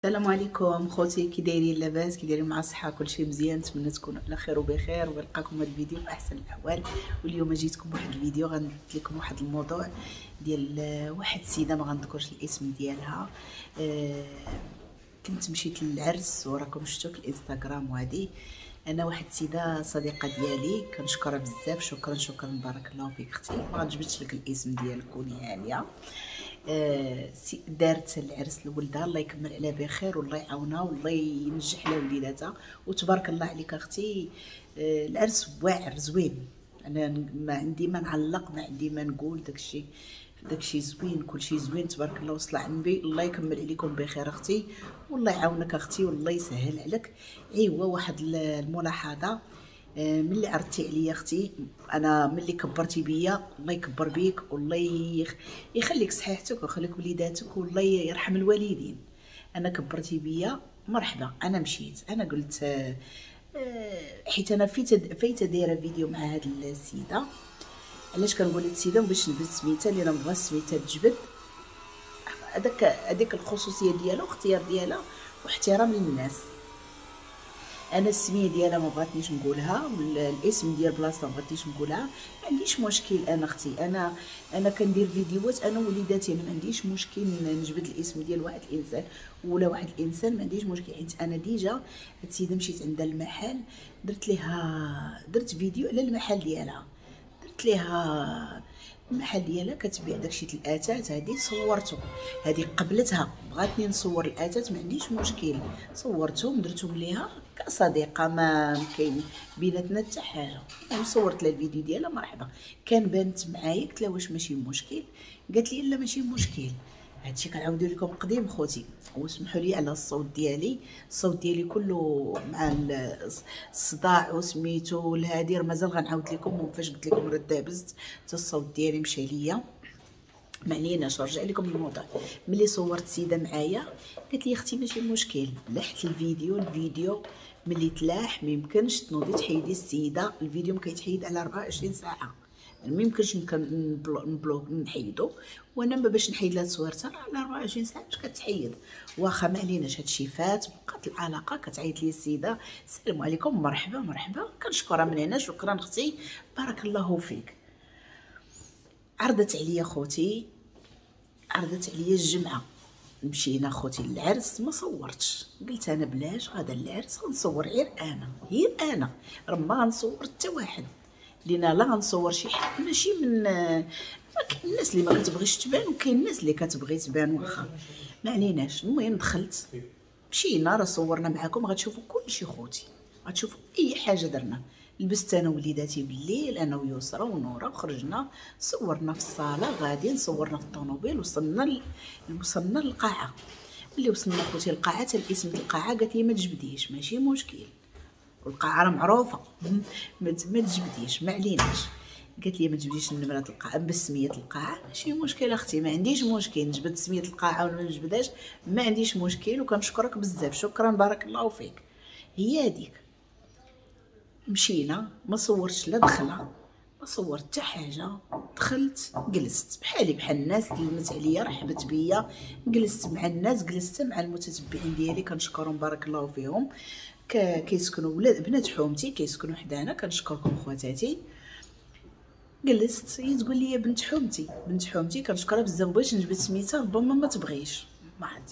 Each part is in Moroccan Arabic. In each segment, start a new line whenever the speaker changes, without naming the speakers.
السلام عليكم خوتي، كي دايرين؟ لاباس؟ كي دايرين مع الصحة؟ كلشي مزيان؟ نتمنى تكونوا على خير وبخير ونلقاكم هذا الفيديو في احسن الاحوال. واليوم جيتكم بواحد الفيديو غندير لكم واحد الموضوع ديال واحد السيدة ما غنذكرش الاسم ديالها. كنت مشيت للعرس وراكم شفتوا في الانستغرام، وهذه انا واحد السيدة صديقه ديالي كنشكرها بزاف، شكرا شكرا بارك الله فيك اختي. ما غنجبدش لك الاسم ديالك، كوني هانيه. دارت العرس لولدها، الله يكمل عليها بخير والله يعاونها والله ينجح لها وليداتها، وتبارك الله عليك اختي. العرس واعر زوين، انا ما عندي ما نعلق، ما عندي ما نقول، داكشي زوين، كلشي زوين تبارك الله وصل على النبي. الله يكمل عليكم بخير اختي والله يعاونك اختي والله يسهل عليك. ايوا واحد الملاحظة، ملي عرضتي عليا اختي، انا ملي كبرتي بيا الله يكبر بيك والله يخليك صحيحتك ويخليك وليداتك والله يرحم الوالدين. انا كبرتي بيا مرحبا، انا مشيت، انا قلت حيت انا فايته دايرة فيديو مع هاد السيدة. علاش كنقول هاد السيدة؟ باش نبت سميتها، لان ما بغاش سميتها تجبد، هذيك الخصوصية ديالها واختيار ديالها واحترام للناس. انا السمية ديالها ما بغاتنيش نقولها، والاسم ديال بلاصة ما بغاتنيش نقولها. ما عنديش مشكل انا اختي، انا كندير فيديوهات انا وليداتي، انا ما عنديش مشكل نجبد الاسم ديال واحد الانسان ولا واحد الانسان، ما عنديش مشكل. حيت انا déjà هاد السيدة مشيت عندها المحل، درت ليها درت فيديو على المحل ديالها، درت ليها المحل ديالها كتبيع داكشي الاثاث، هادي صورته، هادي قبلتها، بغاتني نصور الاثاث ما عنديش مشكل، صورتهم درتهم ليها كصديقه، ما كاين بيناتنا حتى حاجة. المهم صورت لها الفيديو ديالها مرحبا، كان بانت معايا قلت لها واش ماشي مشكل، قالت لي لا ماشي مشكل. هادشي كنعاودو لكم قديم خوتي، وسمحوا لي على الصوت ديالي، الصوت ديالي كله مع الصداع وسميتو الهادي، مازال غنعاود لكم. فاش قلت لكم راه دابزت حتى الصوت ديالي مشى ليا، ما عليناش نرجع لكم الموضوع. ملي صورت السيدة معايا قالت لي اختي ماشي مشكل، لحت الفيديو ملي تلاح ما يمكنش تنوضي تحيدي السيدة، الفيديو ما كيتحيد على 24 ساعة، ما يمكنش نبلوك نحيدو، وانا ما باش نحيد لها تصويرتها على 24 ساعة باش كتحيد. واخا ما عليناش هادشي فات، بقات العلاقة. كتعيط لي السيدة السلام عليكم مرحبا مرحبا، كنشكرها من هنا، شكرا اختي بارك الله فيك. عرضت عليا خوتي، عرضت عليا الجمعة، مشينا خوتي للعرس، ما صورتش، قلت انا بلاش غادا للعرس غنصور غير انا، غير انا راه ما غنصور حتى واحد، لينا لا غنصور شي حد ماشي من ما كاين الناس اللي ما كتبغيش تبان وكاين الناس اللي كتبغي تبان، واخا ما عليناش. المهم دخلت مشينا راه صورنا معاكم، غتشوفوا كلشي خوتي، غتشوفوا اي حاجة درنا. لبست انا وليداتي بالليل، انا ويسرى ونوره، وخرجنا صورنا في الصاله، غاديين صورنا في الطوموبيل، وصلنا للقاعه. ملي وصلنا خوتي القاعة، حتى الاسم ديال القاعة قالت لي ما تجبديش ماشي مشكل، والقاعه راه معروفة ما تجبديش ما عليناش. قالت لي ما تجبديش النمرة القاعة بسميه القاعة، ماشي مشكل اختي ما عنديش مشكل، نجبد سميه القاعة ولا ما نجبدهاش ما عنديش مشكل، وكنشكرك بزاف شكرا بارك الله فيك. هي هذيك مشينا، ما صورتش لا دخله ما صورت حتى حاجة، دخلت جلست بحالي بحال الناس، سلمت عليا رحبت بيا، جلست مع الناس، جلست مع المتتبعين ديالي كنشكرهم بارك الله فيهم، كيسكنوا ولاد بنات حومتي كيسكنوا حدانا، كنشكركم خواتاتي. جلست هي تقول لي بنت حومتي بنت حومتي، كنشكرها بزاف، بغيت نجبد سميتها ربما ما تبغيش ما عاد.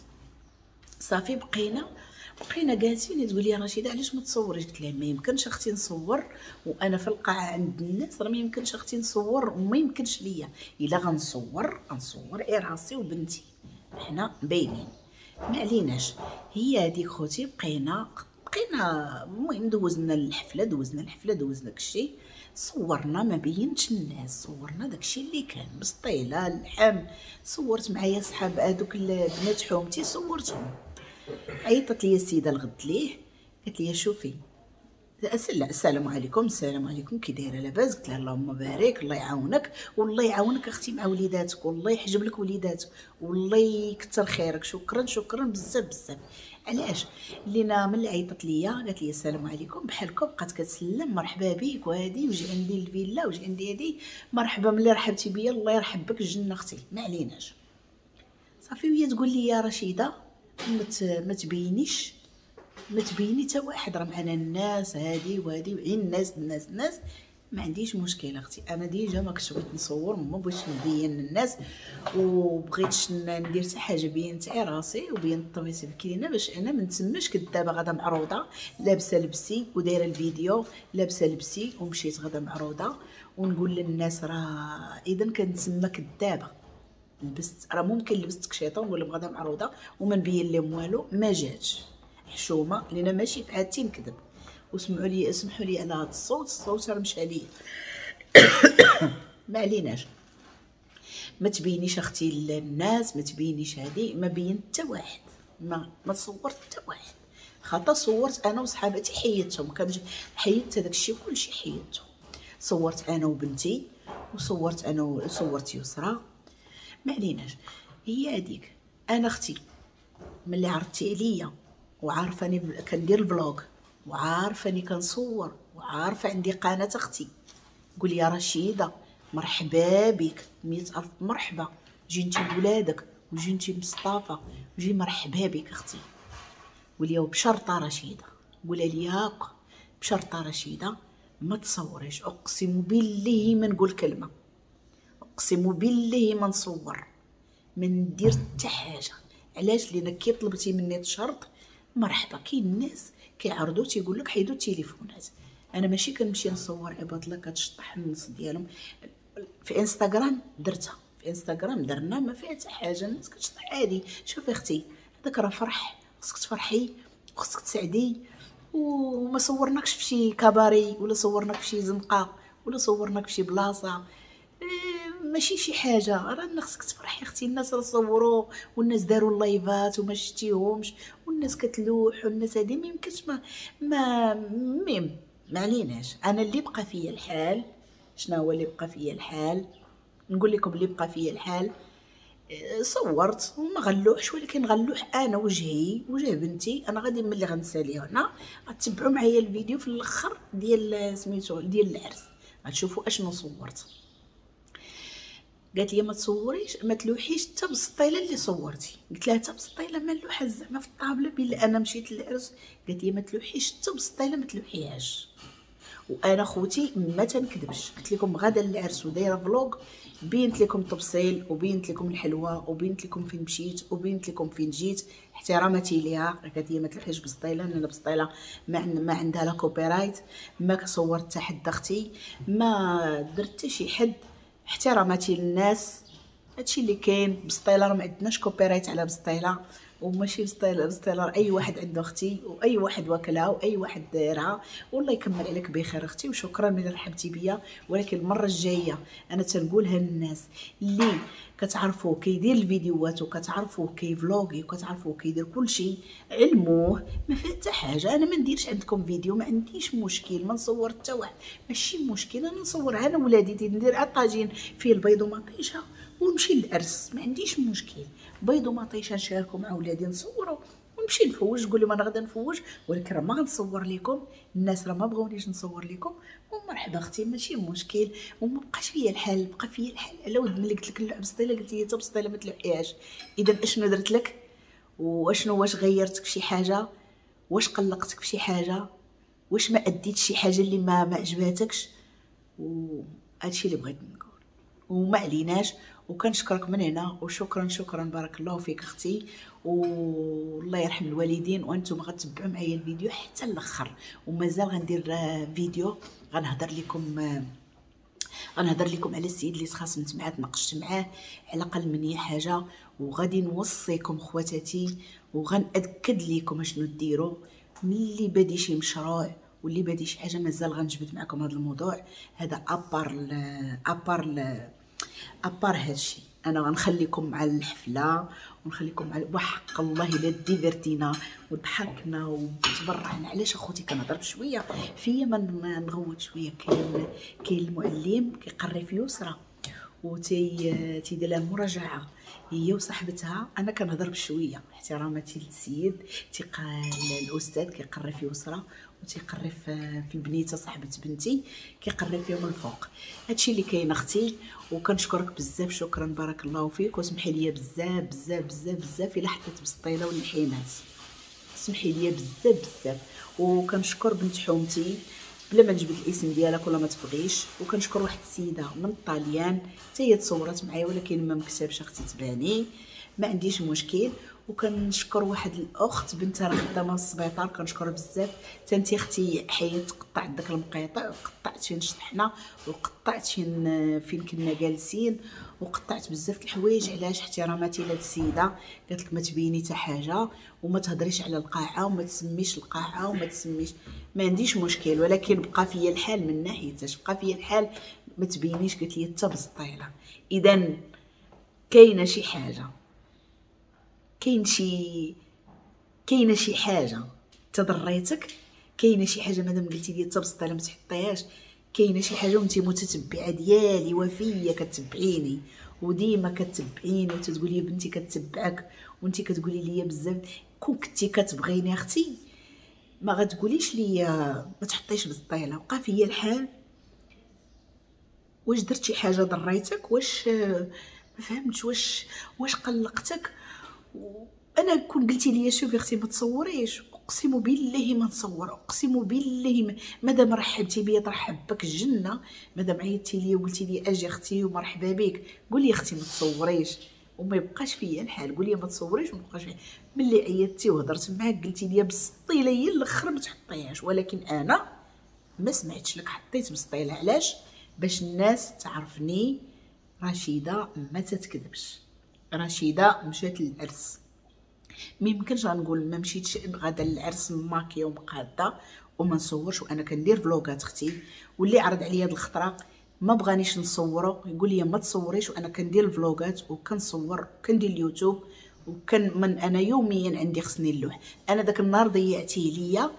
صافي بقينا جالسين، تقول لي رشيده علاش ما تصوريش؟ قلت لها ما يمكنش اختي نصور وانا في القاعة عند الناس، راه ما يمكنش اختي نصور وما يمكنش ليا، الا غنصور غنصور غير راسي وبنتي حنا باينين ما عليناش. هي هذيك خوتي بقينا المهم دوزنا الحفلة دوزنا داكشي، صورنا ما بينتش الناس، صورنا داكشي اللي كان بسطيله اللحم، صورت معايا صحاب هذوك البنات حومتي صورتهم. عيطت لي السيدة الغد ليه قالت لي شوفي السلام عليكم السلام عليكم كي دايرة لاباس؟ قلت لها اللهم بارك الله يعاونك والله يعاونك اختي مع وليداتك والله يحجب لك وليداتك والله يكثر خيرك، شكرا شكرا بزاف بزاف. علاش؟ لينا ملي عيطت ليا قالت لي السلام عليكم بحالكم، بقات كتسلم مرحبا بك وهادي وجي عندي الفيلا وجي عندي هادي مرحبا، ملي رحبتي بيا الله يرحب بك الجنة اختي ما عليناش. صافي وهي تقول لي يا رشيده ما تبينيش، ما تبيني حتى واحد، راه معنا الناس هادي وهادي وعين الناس الناس الناس. ما عنديش مشكل اختي، انا déjà ما كنتش بغيت نصور، ما بغيتش نبين للناس وبغيتش ندير حتى حاجة، بينت غير راسي وبينت الطبيسي الكلينه باش انا ما نتسماش كدابه غادا معروضة لابسه لبسي ودايره الفيديو لابسه لبسي ومشيت غادا معروضة ونقول للناس راه اذا كنتسمى كدابه. لبست راه ممكن لبست كشيطه ونقول لهم غادا معروضة وما نبين لهم والو، ما جاتش حشومه لان ماشي في عادتي نكذب. وسمعوا لي، اسمحوا لي على هذا الصوت، الصوت راه مشى ليا. ما عليناش. ما تبينيش اختي للناس، ما تبينيش هادي، ما بينت حتى واحد، ما صورت حتى واحد، خاطر صورت انا وصحاباتي حيدتهم، حيدت هذاك الشيء كلشي حيدته. صورت انا وبنتي وصورت انا وصورت يسرى. ما عليناش. هي هذيك انا اختي ملي عرضتي عليا وعارفاني كندير ال vlog وعارفاني كنصور وعارفه عندي قناة اختي، قول يا رشيده مرحبا بك، 100,000 مرحبا، جي انت بولادك وجي انت مصطفى وجي مرحبا بك اختي. قول بشرطه رشيده، قولها لي هاكا بشرطه رشيده ما تصوريش، اقسم بالله ما نقول كلمة، اقسم بالله ما نصور، ما ندير حتى حاجة. علاش؟ لان كي طلبتي مني تشرط مرحبا. كاين الناس كيعرضوا تيقول لك حيدوا التليفونات، انا ماشي كنمشي نصور عباد الله كتشطح النص ديالهم. في انستغرام درتها، في انستغرام درنا ما فيها حتى حاجة، الناس كتشطح عادي. شوفي اختي هذاك راه فرح، خصك تفرحي وخصك تسعدي، وما صورناكش في شي كباري ولا صورناك في شي زنقه ولا صورناك في شي بلاصة، ماشي شي حاجة، راه خصك تفرحي اختي. الناس راه صوروا والناس داروا اللايفات وما شتيهمش والناس كتلوح والناس هادي، ما يمكنش ما ميم. ما عليناش. انا اللي بقى فيا الحال، شنو هو اللي بقى فيا الحال؟ نقول لكم اللي بقى فيا الحال، صورت وما غلوحش، ولكن غلوح انا وجهي وجه بنتي. انا غادي ملي غنسالي هنا غتبعوا معايا الفيديو في الاخر ديال سميتو ديال العرس، غتشوفوا اشنو صورت. قالت لي ما تصوريش، ما تلوحيش حتى بالسطيله اللي صورتي. قلت لها حتى بالسطيله ما نلوحها زعما في الطابله بلا انا مشيت للعرس. قالت لي ما تلوحيش حتى بالسطيله، ما تلوحيهاش. وانا خوتي ما تنكذبش، قلت لكم غدا العرس ودايره vlog، بينت لكم التفصيل وبينت لكم الحلوة وبينت لكم فين مشيت وبينت لكم فين جيت، احتراماتي ليها. قالت لي ما تلوحيش بسطيله، لان بسطيله ما عندها لا copyright، ما صورت حتى حد اختي، ما درت حتى شي حد، احتراماتي للناس. هادشي اللي كاين. بسطيله راه ما عندناش copyright على بسطيله، وماشي بسطيله، بسطيله اي واحد عنده اختي واي واحد واكلها واي واحد دايرها. والله يكمل عليك بخير اختي، وشكرا ملي رحبتي بيا. ولكن المرة الجاية انا تنقولها للناس اللي كتعرفوه كيدير الفيديوهات وكتعرفوه كيفلوغي وكتعرفوه كيدير كلشي، علموه ما فيه حتى حاجة. انا ما نديرش عندكم فيديو، ما عنديش مشكل، ما نصور حتى واحد، ماشي مشكل. انا نصور انا ولادي، ندير الطاجين فيه البيض ومطيشه ونمشي للعرس، ما عنديش مشكل. بيض ومطيشه نشاركو مع ولادي، نصورو ونمشي نفوج، نقول لهم انا غادا نفوج، ولكن راه ما غنصور لكم، الناس راه ما بغاونيش نصور لكم. ومرحبا اختي ماشي مشكل. وما بقاش فيا الحال، بقى فيا الحال على ود ملي قلت لك اللعب بسطيله، قلت لي حتى بسطيله ما تلوحيهاش. اذا اشنو درت لك؟ واشنو واش غيرتك في شي حاجة؟ واش قلقتك في شي حاجة؟ واش ما اديت شي حاجة اللي ما عجباتكش؟ وهادشي اللي بغيت نقول، وما عليناش. وكنشكرك من هنا، وشكرا شكرا، بارك الله فيك اختي، والله يرحم الوالدين. وانتم غتبعوا معايا الفيديو حتى الاخر، ومازال غندير فيديو غنهضر لكم على السيد اللي تخاصمت معاه، تناقشت معاه على اقل من هي حاجة. وغادي نوصيكم خواتاتي وغنأكد لكم اشنو ديروا ملي بادي شي مشروع واللي بادي شي حاجة. مازال غنجبد معكم هذا الموضوع هذا à part هادشي. انا غنخليكم مع الحفلة ونخليكم مع وحق الله الا ديفيرتينا وضحكنا وتبرعنا. علاش اخوتي كنهضر بشوية فيا ما نغوت شوية. كاين المعلم كيقري في يسرى وتي تيدير لها المراجعة، هي وصاحبتها. انا كنهضر بشوية احتراماتي للسيد، تيقال الاستاذ كيقري في يسرى وتيقري في البنيته صاحبه بنتي، كيقري فيهم الفوق. هادشي اللي كاين اختي، وكنشكرك بزاف، شكرا بارك الله فيك، وسمحي لي بزاف بزاف بزاف بزاف الا حطيت بسطيله واللحيمات، سمحي لي بزاف بزاف. وكنشكر بنت حومتي بلا ما نجبد الاسم ديالك ولا ما تبغيش، وكنشكر واحد السيدة من الطاليان حتى هي تصورات معايا ولكن ما مكتبش اختي تباني، ما عنديش مشكل. وكنشكر واحد الاخت بنتها راه خدامه في السبيطار، كنشكرها بزاف حتى انت اختي حيت قطعت داك المقيطع وقطعت فين شطحنا وقطعت فين كنا جالسين وقطعت بزاف الحوايج. علاش؟ احتراماتي لهاد السيدة، قالت لك ما تبيني حتى حاجة وما تهضريش على القاعة وما تسميش القاعة وما تسميش، ما عنديش مشكل، ولكن بقى فيا الحال من ناحيتاش بقى فيا الحال ما تبينيش، قالت لي حتى بسطيله. اذا كاينه شي حاجة، كاينه شي حاجة تضريتك، كاينه شي حاجة مادام قلتي لي حتى بسطيله ما تحطيهاش، كاينه شي حاجة وانت متتبعه ديالي وفيه كتبعيني وديما كتبعيني وتتقولي بنتي كتبعك وانت كتقولي لي بزاف، كون كنتي كتبغيني اختي ما غتقوليش لي ما تحطيش بسطيله. بقى فيا الحال، واش درت شي حاجة ضريتك؟ واش ما فهمتش؟ واش قلقتك؟ انا كون قلتي لي شوفي اختي ما تصوريش، اقسم بالله ما نصور، اقسم بالله مادام رحبتي بيا ترحب بك الجنة، مادام عيطتي لي وقلتي لي اجي اختي ومرحبا بك، قولي اختي ما تصوريش وما يبقاش فيا الحال، قولي ما تصوريش وما يبقاش فيا. ملي عيطتي وهضرت معاك قلتي لي بسطيله هي الاخر ما تحطيهاش، ولكن انا ما سمعتش لك، حطيت بسطيله. علاش؟ باش الناس تعرفني رشيده ما تتكذبش، رشيده مشات للعرس، ما يمكنش غنقول ما مشيتش غادا للعرس ماكيه ومقاده وما نصورش، وانا كندير فلوغات اختي، واللي عرض عليا هاد الخطرة ما بغانيش نصورو يقول لي ما تصوريش، وانا كندير الفلوغات وكنصور وكندير اليوتيوب وكان من انا يوميا عندي خصني اللوح. انا داك النهار ضيعتيه ليا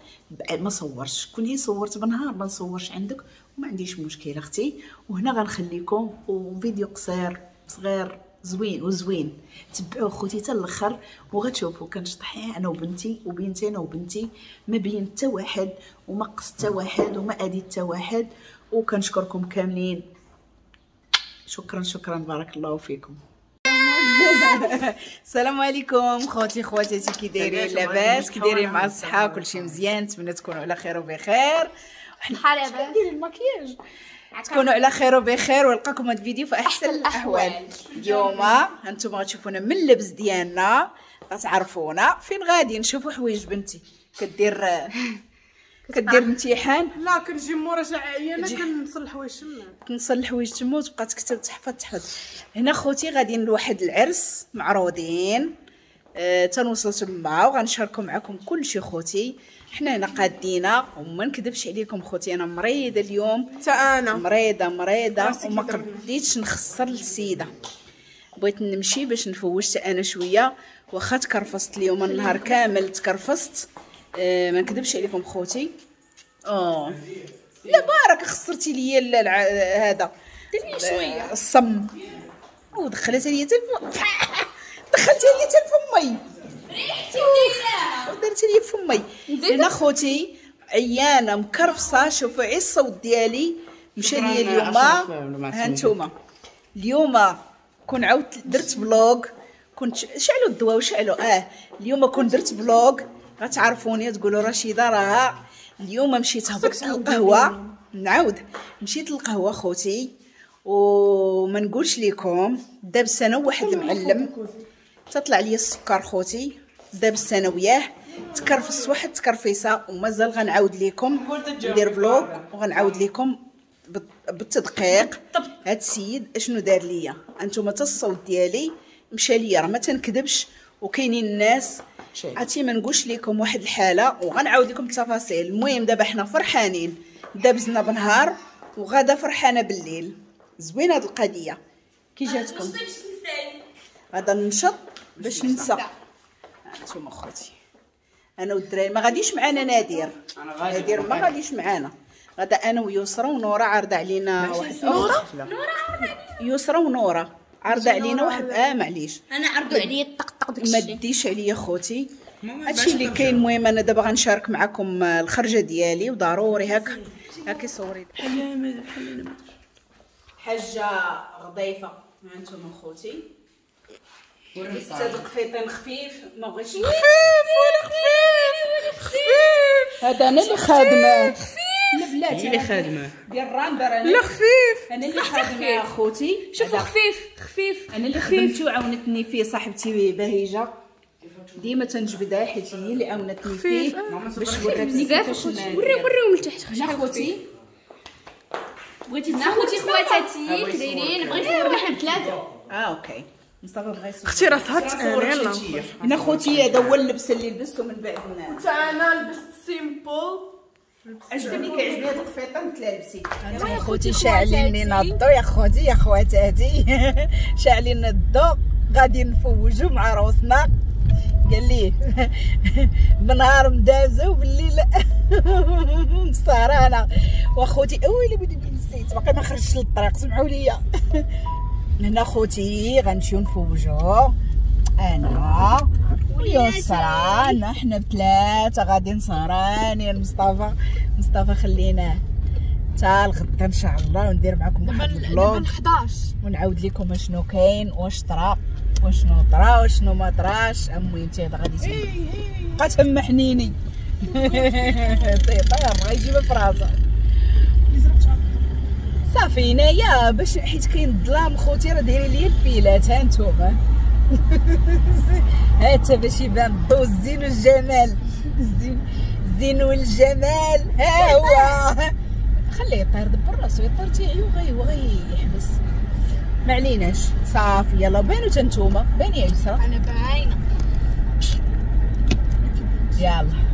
ما صورتش، كون صورت بنهار ما نصورش عندك وما عنديش مشكل اختي. وهنا غنخليكم وفيديو قصير صغير زوين وزوين، تبعوه خوتي حتى الاخر وغتشوفوا كنشطح انا وبنتي وبنتي انا وبنتي، ما بين حتى واحد وما قصت حتى واحد وما اديت حتى واحد. وكنشكركم كاملين، شكرا شكرا بارك الله فيكم. السلام عليكم خوتي خواتاتي، كي دايرين؟ لاباس؟ كي دايرين مع الصحة؟ كلشي مزيان؟ نتمنى تكونوا على خير وبخير.
بحال دابا
ندير الماكياج، تكونوا على خير وبخير ولقاكم هذا الفيديو في احسن الاحوال. اليوم هانتوما غتشوفونا من اللبس ديالنا غتعرفونا فين غادي نشوفوا حوايج بنتي. كدير امتحان؟
لا كنجي مراجعه عيانه كنصل الحوايج تما،
كنصل الحوايج تما وتبقى تكتب تحفظ تحفظ. هنا خوتي غاديين لواحد العرس معروضين، تنوصل تما وغنشاركو معكم كلشي خوتي. حنا هنا قادينا وما نكذبش عليكم خوتي، انا مريضه اليوم،
حتى انا
مريضه مريضه وما قديتش نخسر للسيدة، بغيت نمشي باش نفوج انا شوية، واخا تكرفست اليوم النهار كامل تكرفست. ما نكذبش عليكم خوتي. لا بارك خسرتي لي هذا،
ديري شوية
الصم ودخلتها لي دخلتها لي حتى لفمي،
ريحتي وديناها
ودرتي لي فمي. انا خوتي عيانه مكرفصه، شوفوا عي الصوت ديالي مشى لي اليوم. ها انتوما اليوم كون عاودت درت vlog، كنت شعلوا الضوا وشعلوا اليوم كون درت vlog غتعرفوني تقولوا رشيده راها اليوم مشيت هبطت للقهوة. نعاود مشيت للقهوة خوتي وما نقولش لكم دابس انا واحد المعلم تطلع لي السكر خوتي، دابس انا وياه تكرفس واحد تكرفيسه، ومازال غنعاود لكم ندير vlog وغنعاود لكم بالتدقيق هاد السيد اشنو دار ليا. انتم حتى الصوت ديالي مشى ليا، راه ما تنكذبش، وكاينين الناس عرفتي ما نقولش لكم واحد الحالة وغنعاود لكم التفاصيل. المهم دابا حنا فرحانين، دابزنا بنهار وغادا فرحانة بالليل. زوينة هاد القضية، كي جاتكم؟ غادا ننشط باش ننسى. انتم اخوتي انا والدراري ما غاديش معانا نادر، نادر ما غاديش معانا، غادا انا ويسرى ونوره عارضه علينا واحد نوره، يسرى ونوره عرض علينا واحد معليش
انا عرضوا عليا طقطق داكشي،
ما ديش عليا خوتي. هادشي اللي كاين. المهم انا دابا غنشارك معكم الخرجه ديالي وضروري هاك هاكي صوري حاجة غضيفه. ها انتم خوتي لبست هاد القفيطين خفيف، ما بغيتش
خفيف ولا خفيف خفيف.
هذا انا اللي خادمه خفيف، لا بلاتي
اللي خادمه
ديال الراندر. انا
لا خفيف،
انا اللي خادمه اخوتي.
شوفوا خفيف خفيف،
انا اللي خدمته وعاونتني فيه صاحبتي باهيجه، ديما تنجبدها حيت هي اللي عاونتني فيه باش وراتني كيفاش.
وريهم لتحت
اخوتي.
بغيتي خوتي خواتاتي كدايرين، بغيت نصور حنا بثلاثة.
okay مصطفى بغا يصور.
اختي راه سهرت انا. يلاه
هنا خوتي هذا هو اللبس اللي لبستو من بعد.
حتى انا لبست simple،
عجبني كيعجبني هاد القفيطه مثل لبسي. يا خوتي شاعلين لينا الضو يا خوتي يا خواتاتي شاعلين الضو، غادي نفوجوا مع روسنا. قال لي بنهار مدازه وبالليل مسهرانه. واخوتي اويلي بدي نسيت باقي ما خرجتش للطريق، سمعوا لي. هنا خوتي غنمشيو نفوجو انا ويسرى، حنا بثلاثة غادي سهرانين. مصطفى مصطفى خليناه حتى الغدا ان شاء الله وندير معكم واحد ال vlog
11
ونعاود لكم اشنو كاين واش طرا وشنو طرا وشنو ما طراش. المهم حتى هذا غادي بقى تما حنيني طير غيجيبها في راسها صافي. هنايا باش حيت كاين الظلام خوتي راه دايرين لي البيلات، ها نتوما هاتا باش يبان الضو الزين والجمال، الزين والجمال ها هو. خليه يطير دبر راسو، يطير تيعي وغي يحبس، ما عليناش صافي. يلا بانو تا نتوما، باني يا يسرا.
انا باينة.
يلا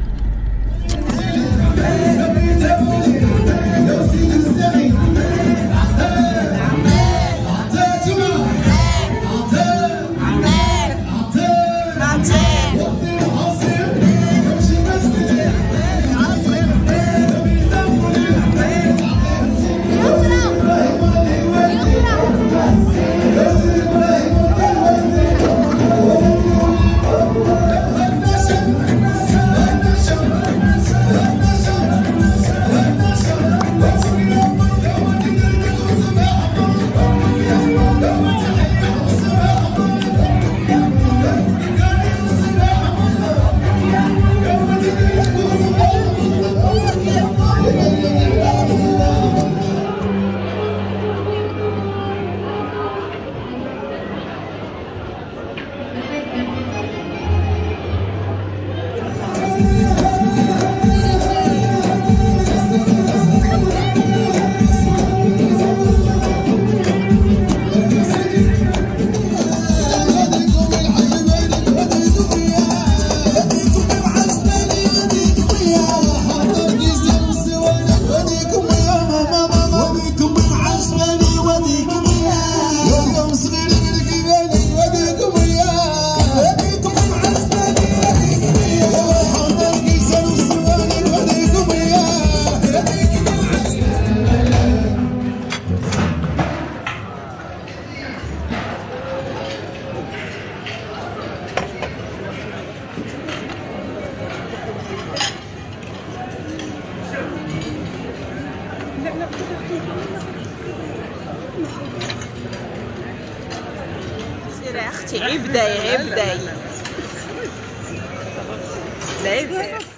سيري اختي، عيب داي عيب داي. لا.